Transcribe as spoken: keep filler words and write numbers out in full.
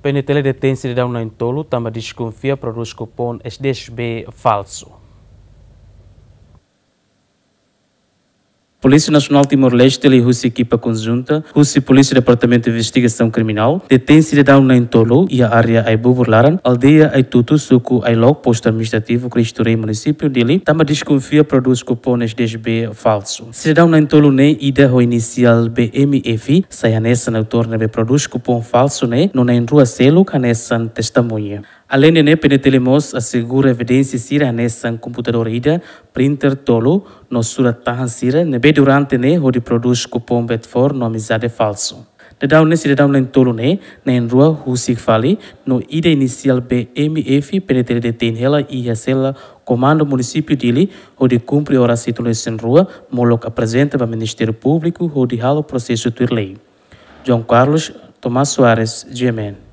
PNTL detein sidadaun na'in-tolu tanba deskonfia prodús kupon S D S B falsu. Polísia Nasionál Timor-Leste liuhusi ekipa konjunta husi Polísia Departamentu Investigasaun Kriminál detein sidadaun na'in-tolu iha área Aibubur Laran, aldeia Aitutu, suku Ailok, postu administrativu Cristo Rei, munisípiu Dili, tanba deskonfia prodús kupon S D S B falsu. Sidadaun na'in-tolu ne'e, ida ho inisiál B M F, sai hanesan autór ne'ebé prodús kupon falsu ne'e, no na'in-rua seluk hanesan testemuña. Aleinde ne'e, PNTL mós asegura evidénsia sira hanesan komputadór ida, printer tolu, no surat-tahan sira ne'ebé durante ne'e hodi prodús kupon Betfor no Amizade falsu. Daudaun ne'e, sidadaun na'in-tolu ne'e, na'in-rua husik fali, no ida inisiál B M F, PNTL detein hela iha sela Komandu Munisípiu Dili, hodi kumpre oras hitu liu resin rua, molok aprezenta ba Ministériu Públiku hodi halo prosesu tuir lei. João Carlos, Tomás Soares, G M N.